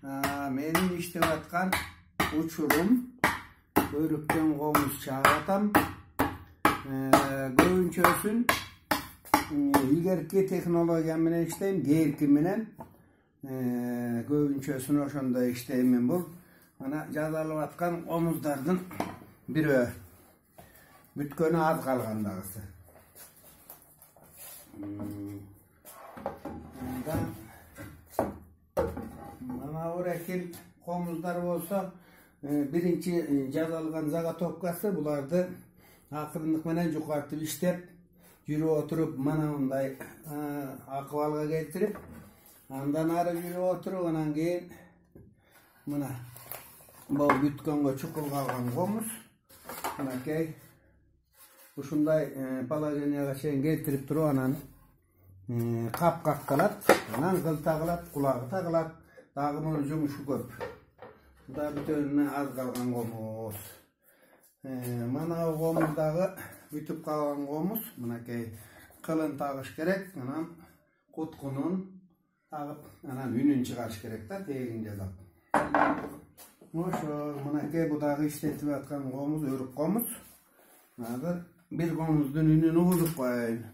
Менин иштеп аткан учурум өрүктөн комуз чаап атам. Көбүнчөсүн илгерки технология менен иштейм, кээки менен. Көбүнчөсүн ошондой иштеймин. Бул мына жазалып аткан комуздардын бирөө. Бүткөнү аз калган дагысы. Мына орекил комуздар болсо, биринчи жазалган заготовкасы буларды акырындык менен жукартып иштеп, жүрүп отуруп, мына мындай акыбалга келтирип, андан ары жүрүп отуруп, анан кийин мына бул бүткөнгө чукул калган комуз, мынакей ушундай положенияга чейин келтирип туруп, анан кап каккалат, анан кыл тагылат, кулагы тагылат. Дагы мунун жумушу көп. Мында бүтөнүнө аз калган комуз. Мына комуз дагы бүтүп калган комуз. Мынакей кылын тагыш керек, анан куткунун тагып, анан үнүн чыгарыш керек да, тегин жасап. Ошо, мынакей бу дагы иштетип аткан комуз, өрүк комуз. Азыр бир комуздун үнүн угузуп коеюн.